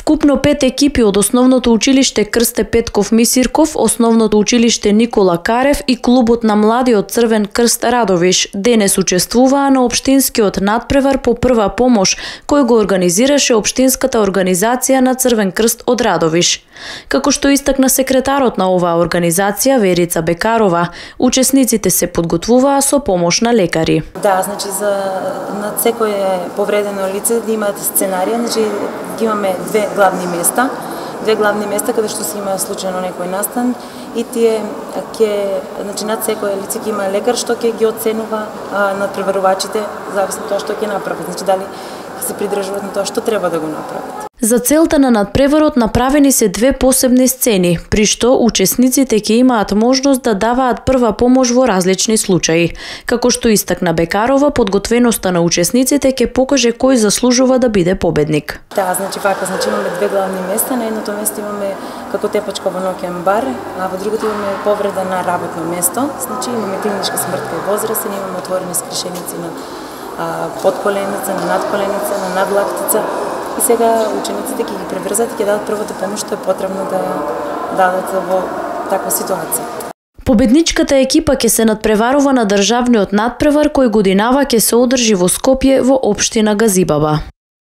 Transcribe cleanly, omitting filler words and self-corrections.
Вкупно 5 екипи од Основното училиште Крсте Петков Мисирков, Основното училиште Никола Карев и клубот на младиот Црвен крст Радовиш денес учествуваа на општинскиот надпревар по прва помош кој го организираше општинската организација на Црвен крст од Радовиш. Како што истакна секретарот на оваа организација Верица Бекарова, учесниците се подготвуваа со помош на лекари. Да, значи на секое повредено лице да имаат сценарија, значи имаме две главни места каде што се има случајно некој настан и тие значи над секое лице ќе има лекар што ќе ги оценува надпреварувачите зависно тоа што ќе направат, значи дали ќе се придржуваат на тоа што треба да го направат. За целта на надпреварот направени се две посебни сцени, при што учесниците ќе имаат можност да даваат прва помош во различни случаи. Како што истакна Бекарова, подготвеноста на учесниците ќе покаже кој заслужува да биде победник. Да, значи имаме две главни места, на едното место имаме како тепачка во ноќен бар, а во другото имаме повреда на работно место, значи имаме клиничка смрт кај возрастен, имаме отворени скришеници на подколеница, на надколеница, на надлактица. И сега учениците ќе ги преврзат и ќе дадат првата помош што е потребно да дадат во таква ситуација. Победничката екипа ќе се надпреварува на државниот надпревар кој годинава ќе се одржи во Скопје во општина Газибаба.